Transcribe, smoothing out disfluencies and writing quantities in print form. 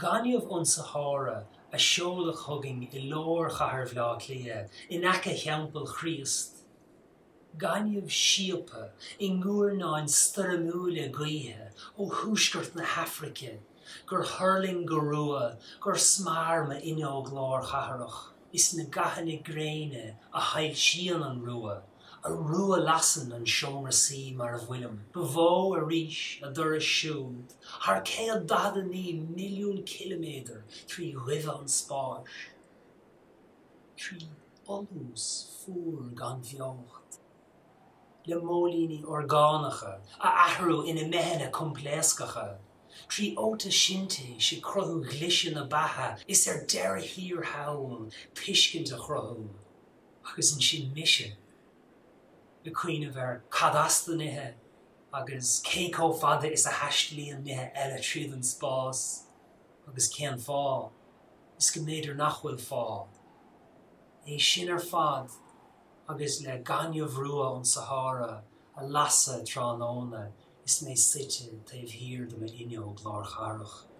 Gaineamh ón Sahára a seoladh chugainn i lár chathair Bhaile Átha Cliath, in aice Theampall Chríost. Gaineamh síobtha i nguairneáin stoirmiúla gaoithe ó thuaisceart na hAfraice gur thuirling go rua gur smear m'fhuinneog lár chathrach. Is na gathanna gréine a shoilsíonn an rua, a rua-lasann an seomra suí mar a bhfuilim. Ba mhó arís a dturas siúd thar 149 milliún ciliméadar trí dhuibhe an spáis, trí fholús fuar gan bheocht, le móilíní orgánacha a athrú ina mbeithe coimpléascacha, trí fhótaisintéis ag cruthú ghliseadh na beatha is ar deireadh thiar thall tuiscint a chruthú. Agus ansin mise ag cuimhneamh ar cad as do nithe agus cé chomh fada is a thaistlíonn nithe eile tríd an spás agus cén fáth, is go mb'fhéidir nach bhfuil fáth. É sin ar fad agus le gaineamh rua ón Sahára a lasadh tráthnóna is mé suite taobh thiar de m'fhuinneog lár chathrach.